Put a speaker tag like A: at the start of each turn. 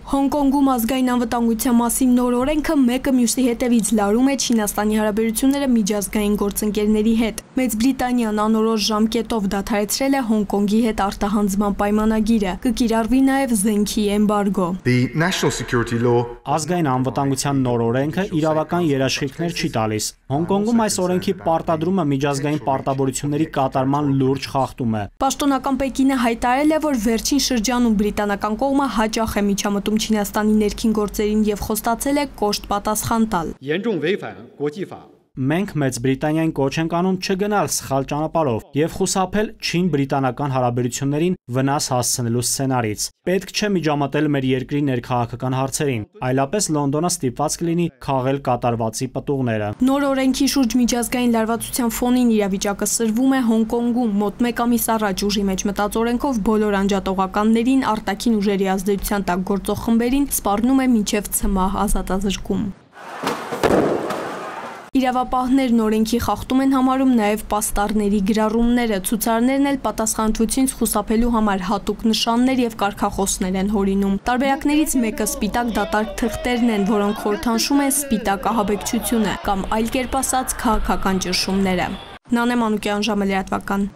A: Հոնկոնգում ազգային անվտանգության մասին նոր օրենքը մեկը մյուսի հետևից լարում է Չինաստանի հարաբերությունները միջազգային գործընկերների հետ։ Մեծ Բրիտանիան անորոշ ժամկետով դադարեցրել է Հոնկոնգի հետ արտահանձնման պայմանագիրը, կկիրառվի նաև զենքի էմբարգո։
B: Ազգային անվտանգության նոր օրենքը իրավական երաշխիքներ չի տալիս։ Հոնկոնգում այս օրենքի պարտադրումը միջազգային պարտավորությունների կատարման լուրջ խախտում է։
A: Պաշտոնական Պեկինը հայտարարել է, որ վերջին շրջանում բրիտանական կողմը հաճախ է միջամտում Չինաստանի ներքին գործերին եւ խոստացել է կոշտ պատասխան տալ։
B: Մենք Մեծ Բրիտանիային կոչ ենք անում չգնալ սխալ ճանապարհով եւ խուսափել Չին-բրիտանական հարաբերություններին վնաս հասցնելու սցենարից։ Պետք չէ միջամտել մեր երկրի ներքաղաքական հարցերին, այլապես Լոնդոնը ստիպված կլինի քաղել կատարվածի պտուղները։
A: Նոր օրենքի շուրջ միջազգային լարվածության ֆոնին իրավիճակը սրվում է Հոնկոնգում։ Մոտ մեկ ամիս առաջ ուժի մեջ մտած օրենքով բոլոր անջատողականներին, արտաքին ուժերի ազդեցության տակ գործող խմբերին սպառնում է մինչև ցմահ ազատազրկում։ Իրավապահներն օրենքի խախտում են համարում նաև պաստառների գրառումները, ցուցարարներն էլ պատասխանատվությունից խուսափելու համար հատուկ նշաններ եւ կարգախոսներ են հորինում։ Տարբերակներից մեկը սպիտակ դատարկ թղթերն են, որոնք խորհրդանշում են սպիտակ ահաբեկչությունը կամ այլ կերպ ասած քաղաքական ճնշումները։ Նանե Մանուկյան, ժամը լրատվական։